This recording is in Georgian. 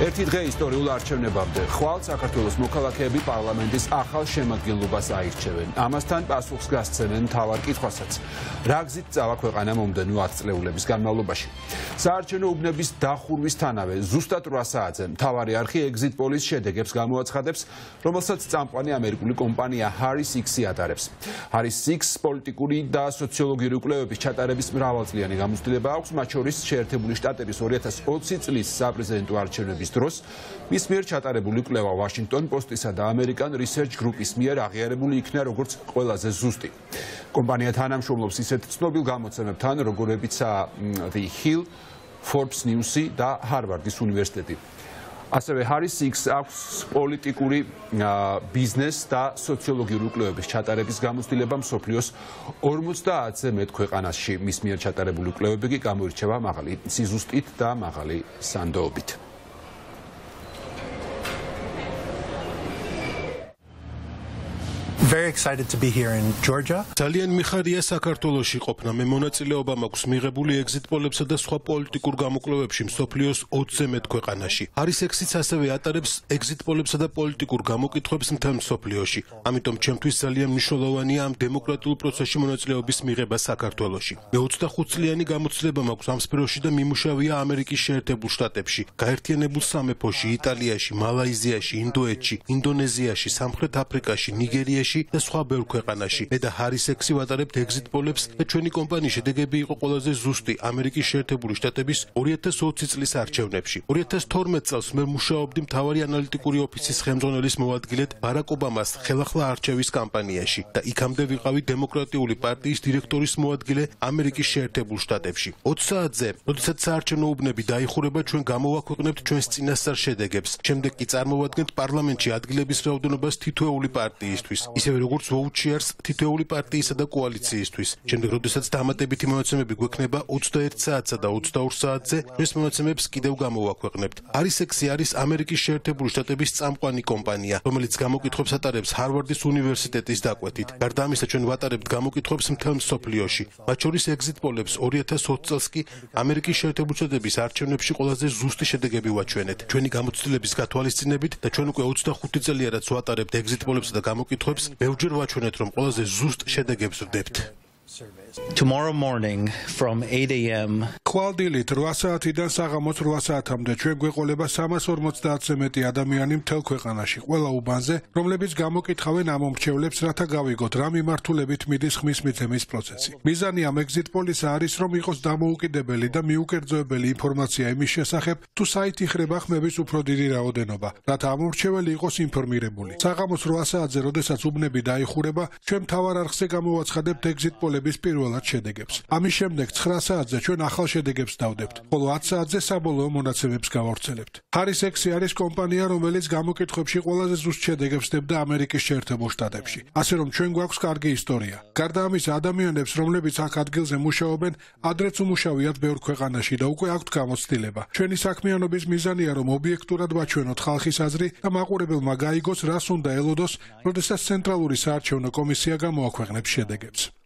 ერთი დღე ისტორიულ არჩევნებამდე ხვალ საქართველოს მოქალაქეები პარლამენტის ახალ შემადგენლობას აირჩევენ. Ამასთან პასუხს გასცემენ მთავარ კითხვასაც. რა გზით წავა ქვეყანა მომდევნო 10 წლეულების განმავლობაში. საარჩევნო უბნების დახურვისთანავე ზუსტად 8 საათზე მთავარი არხი exit polls შედეგებს გამოაცხადებს, რომელსაც წამყვანი ამერიკული კომპანია Harris X-ი ატარებს. Harris X პოლიტიკური და სოციოლოგიური კვლევების ჩატარების მრავალწლიანი გამოცდილება აქვს, მათ შორის შეერთებული შტატების 2020 წლის საპრეზიდენტო არჩევნების დროს მის მიერ ჩატარებული კვლევა Washington Post-ისა და American Research Group-ის მიერ აღიარებული იქნა როგორც ყველაზე ზუსტი. კომპანია თანამშრომლობს ისეთ ცნობილ გამოცემებთან, როგორებიცაა The Hill, Forbes News-ი და Harvard-ის უნივერსიტეტი. ასევე Harris X აქვს პოლიტიკური ბიზნეს და სოციოლოგიური კვლევების ჩატარების გამოცდილება მსოფლიოს 50-ზე მეტ ქვეყანაში. მის მიერ ჩატარებული კვლევები კი გამოირჩევა მაღალი სიზუსტით და მაღალი სანდოობით. Very excited to be here in Georgia. ძალიან მიხარია საქართველოში ყოფნა. მე მონაწილეობა მაქვს მიღებული exit poll-ებსა და სხვა პოლიტიკურ გამოკვლევებში მსოფლიოს 20-ზე მეტ ქვეყანაში. Harris X-იც ასევე ატარებს exit poll-ებსა და პოლიტიკურ გამოკითხვებს მთელ მსოფლიოში. ამიტომ ჩემთვის ძალიან მნიშვნელოვანია ამ დემოკრატიულ პროცესში მონაწილეობის მიღება საქართველოში. მე 25 წლიანი გამოცდილება მაქვს ამ სფეროში და მიმუშავია ამერიკის შეერთებულ შტატებში, გაერთიანებულ სამეფოში, იტალიაში, მალაიზიაში, ინდოეთში, ინდონეზიაში, სამხრეთ აფრიკაში, ნიგერიაში და სხვა ბევრ ქვეყანაში. მე და Harris X-ი ვატარებთ exit poll-ებს და ჩვენი კომპანიის შედეგები იყო ყველაზე ზუსტი ამერიკის შეერთებული შტატების 2020 წლის არჩევნებში. 2012 წელს მე მუშაობდი მთავარი ანალიტიკური ოფისის ხელმძღვანელის მოადგილედ ბარაკ ობამას ხელახლა არჩევის კამპანიაში და იქამდე ვიყავი დემოკრატიული პარტიის დირექტორის მოადგილე ამერიკის შეერთებულ შტატებში. 20 საათზე, როდესაც საარჩევნო უბნები დაიხურება, ჩვენ გამოვაქვეყნებთ ჩვენს წინასწარ შედეგებს. შემდეგ კი წარმოვადგენთ პარლამენტში ადგილების რაოდენობას თითოეული პარტიისთვის. ისევე როგორც vote-shares თითოეული პარტიისა და კოალიციისთვის. შემდეგ, როდესაც დამატებითი მონაცემები გვექნება 21 საათსა და 22 საათზე, ჩვენს მონაცემებს კიდევ გამოვაქვეყნებთ. Harris X-ი არის ამერიკის შეერთებული შტატების წამყვანი კომპანია, რომელიც გამოკითხვებს ატარებს Harvard-ის უნივერსიტეტის დაკვეთით. გარდა ამისა, ჩვენ ვატარებთ გამოკითხვებს მთელ მსოფლიოში. მათ შორის exit poll-ებს 2020 წელს კი ამერიკის შეერთებული შტატების არჩევნებში ყველაზე ზუსტი შედეგები ვაჩვენეთ. ჩვენი გამოცდილების გათვალისწინებით და ჩვენ უკვე 25 წელია რაც ვატარებთ exit poll-ებსა და გამოკითხვებს, ბევრჯერ ვაჩვენეთ, რომ ყველაზე ზუსტ შედეგებს ვდებთ. Tomorrow morning from 8 a.m. Qvaldilit 8 საათიდან საღამოს 8 საათამდე ჩვენ გვეყოლება 350-ზე მეტი ადამიანი მთელ ქვეყანაში, ყველა უბანზე, რომლებიც გამოკითხავენ ამ მომრჩევლებს, რათა გავიგოთ რა მიმართულებით მიდის ხმის მიცემის პროცესი. მიზანი ამ exit poll-ისა არის, რომ იყოს დამოუკიდებელი და მიუკერძოებელი ინფორმაცია იმის შესახებ, თუ საით იხრება ხმების უფრო დიდი რაოდენობა, რათა ამ მომრჩეველი იყოს ინფორმირებული. საღამოს 8 საათზე, როდესაც უბნები დაიხურება, ჩვენ მთავარ არხზე გამოვაცხადებთ exit poll-ების პირველად შედეგებს. ამის შემდეგ 9 საათზე ჩვენ ახალ შედეგებს დავდებთ, ხოლო 10 საათზე საბოლოო მონაცემებს გავავრცელებთ. Harris X-ი არის კომპანია, რომელიც გამოკითხვებში ყველაზე ზუსტ შედეგებს დებდა ამერიკის შეერთებულ შტატებში. ასე რომ ჩვენ გვაქვს კარგი ისტორია. გარდა ამისა, ადამიანებს, რომლებიც აქ ადგილზე მუშაობენ, ადრეც უმუშავიათ ბევრ ქვეყანაში და უკვე აქვთ გამოცდილება. ჩვენი საქმიანობის მიზანია, რომ ობიექტურად ვაჩვენოთ ხალხის აზრი და მაყურებელმა გაიგოს, რას უნდა ელოდოს, როდესაც ცენტრალური საარჩევნო კომისია გამოაქვეყნებს შედეგებს.